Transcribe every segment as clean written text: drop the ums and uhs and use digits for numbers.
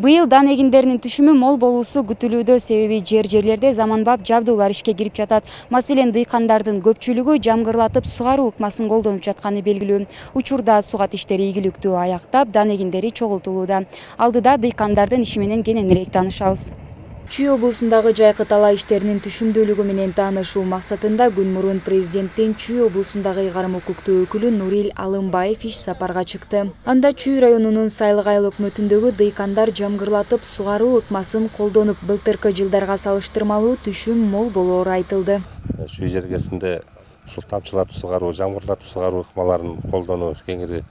Быйыл дан эгиндеринин түшүмү мол болуусу күтүлүүдө, себеби жерлерде заманбап жабдуулар ишке кирип жатат. Маселен, дыйкандардын көпчүлүгү жамгырлатып сугаруу ыкмасын колдонуп жатканы белгилүү. Учурда сугат иштери ийгиликтүү аяктап, дан эгиндери чогултулууда. Алдыда дыйкандардын иши менен кененирээк таанышабыз. Чүй облусундагы жайкы талаа иштеринин түшүмдүүлүгү менен таанышуу максатында күн мурун президенттин Чүй облусундагы ыйгарым укуктуу өкүлү Нурил Алымбаев иш сапарга чыкты. Анда Чүй районунун Сайлык айыл өкмөтүндөгү дыйкандар жамгырлатып сугаруу ыкмасын колдонуп, былтыркы жылдарга салыштырмалуу түшүм мол болоору айтылды. Чүй жергесинде ушул тамчылатып сугаруу, жамгырлатып сугаруу ыкмаларын колдонуу кеңири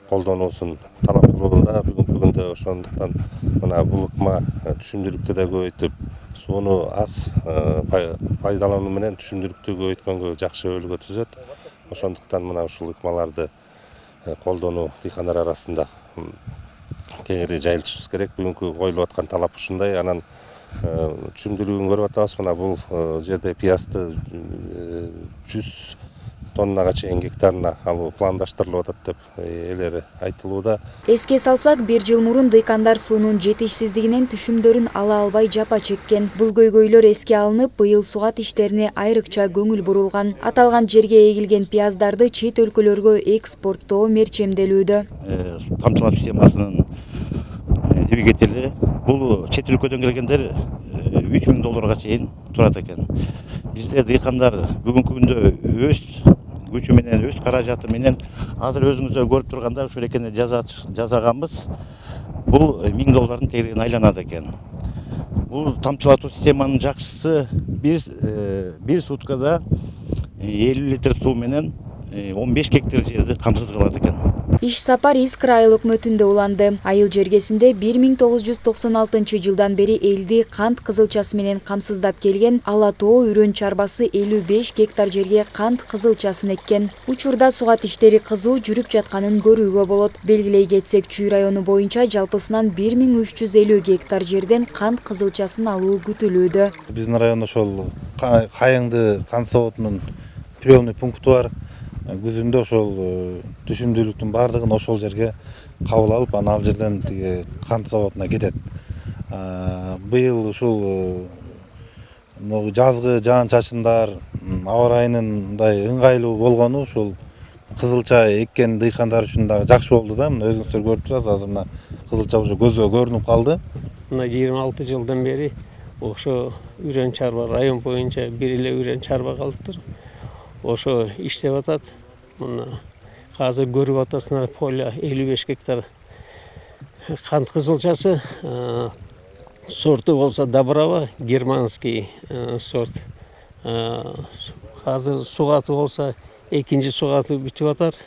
колдонуусун талап кылууда. Бүгүнкү күндө ошондуктан мына бул ыкма түшүмдүүлүктү да көбөйтүп, сууну аз пайдалануу менен түшүмдүүлүктү көбөйткөнгө жакшы өбөлгө түзөт. Ошондуктан мына ушул ыкмаларды колдонуу дыйкандар арасында кеңири жайылтышыбыз керек. Бүгүнкү коюлуп аткан талап ушундай. Анан түшүмдүүлүгүн көрүп атабыз. Мына бул жерде пиязды 100 тоннага чейин гектарына алуу пландаштырылып атат деп элери айтылууда. Эске салсак, бир жыл мурун дыйкандар суунун жетишсиздигинен түшүмдөрүн ала албай жапа чеккен. Бул көйгөйлөр эске алынып, быйыл сугат иштерине айрыкча көңүл бурулган. Аталган жерге эгилген пияздарды чет өлкөлөргө экспорттоо мерчемделүүдө. Тамчылатуу системасынын двигатели бул чет өлкөдөн келгендер $3000 чейин турат экен. Биздер дыйкандар бүгүнкү күндө өз күчү менен, өз каражаты менен азыр өзүңүздөр көрүп турганда ушул экени жасаганбыз. Бул $1000 тегерегине айланат экен. Бул тамчылатуу системанын жакшысы бир суткада 50 литр суу менен 15 гектар жерди камсыз кылат экен. Иш сапар Искра айыл өкмөтүндө уланды. Айыл жергесинде 1996 жылдан бери элди кант кызылчасы менен камсыздап келген Ала Тоо үрөн чарбасы 55 гектар жерге кант кызылчасын эккен. Учурда сугат иштери кызуу жүрүп жатканын көрүүгө болот. Белгилей кетсек, Чүй району боюнча жалпысынан 1350 гектар жерден кант кызылчасын алуу күтүлүүдө. Биздин райондо ошол Кайыңды кант заводунун приемный пункту бар. Күзүндө ошол түшүмдүүлүктүн баардыгын ошол жерге кабыл алып, анан ал жерден тиги кант заводуна кетет. Быйыл ушул жазгы жаан-чачындар, аба райынын мындай ыңгайлуу болгону ушул кызылча эккен дыйкандар үчүн дагы жакшы болду да. Мына өзүңүздөр көрүп турасыз, азыр мына кызылча уже көзгө көрүнүп калды. Мына 26 жылдан бери ошо үрөн чарба район боюнча бир эле үрөн чарба калыптыр. Ошо иштеп атат. Мына азыр көрүп атасыңар, поле 55 гектар кант кызылчасы. Сорту болсо Добрава, германский сорт. Азыр сугаты болсо экинчи сугаты бүтүп атат.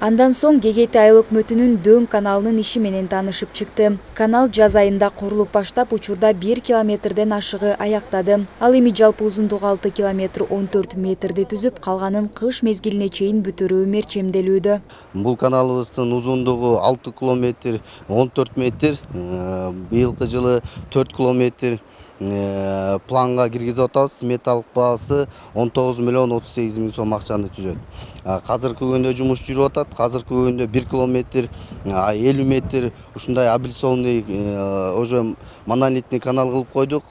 Андан соң Гегети айыл өкмөтүнүн Дөң каналынын иши менен таанышып чыкты. Канал жаз айында курулуп баштап, учурда 1 километрден ашыгы аяктады. Ал эми жалпы узундугу 6 километр 14 метрди түзүп, калганын кыш мезгилине чейин бүтүрүү мерчемделүүдө. Бул каналыбыздын узундугу 6 километр 14 метр, быйылкы жылы 4 километр планга киргизип атабыз. Сметалык баасы 19 миллион 38 миң сом акчаны түзөт. Азыркы күндө жумуш жүрүп атат. Азыркы күндө 1 километр 50 метр ушундай абилсонный уже монолитный канал кылып койдук.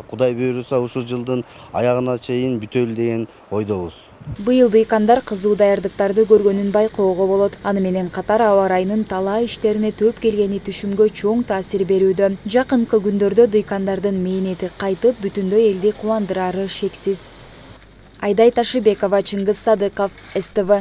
Кудай буйруса ушул жылдын аягына чейин бүтөлү деген ойдобуз. Быйыл дыйкандар кызуу даярдыктарды көргөнүн байкоого болот. Аны менен катар аба райынын талаа иштерине төп келгени түшүмгө чоң таасир берүүдө. Жакынкы күндөрдө дыйкандардын мээнети кайтып, бүтүндөй элди кубандырары шексиз. Айдай Ташыбекова, Чыңгыз Садыков, СТВ.